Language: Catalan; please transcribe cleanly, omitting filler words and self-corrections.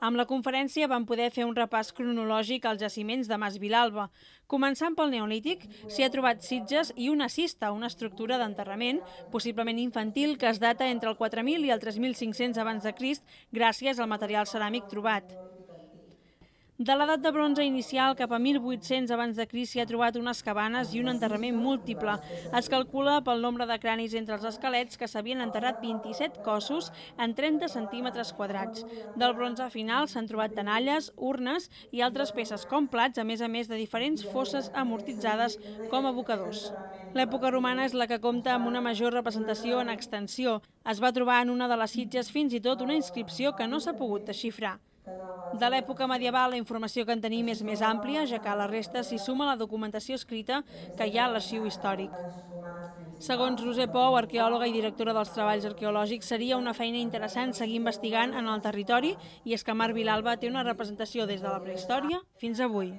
Amb la conferència vam poder fer un repàs cronològic als jaciments de Mas Vilalba. Començant pel Neolític, s'hi ha trobat sitges i una cista, una estructura d'enterrament, possiblement infantil, que es data entre el 4000 i el 3500 abans de Crist, gràcies al material ceràmic trobat. De l'edat de bronze inicial cap a 1800 abans de Crist s'hi ha trobat unes cabanes i un enterrament múltiple. Es calcula pel nombre de cranis entre els esquelets que s'havien enterrat 27 cossos en 30 centímetres quadrats. Del bronze final s'han trobat tenalles, urnes i altres peces com plats, a més de diferents fosses amortitzades com abocadors. L'època romana és la que compta amb una major representació en extensió. Es va trobar en una de les sitges fins i tot una inscripció que no s'ha pogut desxifrar. De l'època medieval la informació que en tenim és més àmplia, ja que a la resta s'hi suma la documentació escrita que hi ha a l'arxiu històric. Segons Roser Pou, arqueòloga i directora dels treballs arqueològics, seria una feina interessant seguir investigant en el territori, i és que Mas Vilalba té una representació des de la prehistòria fins avui.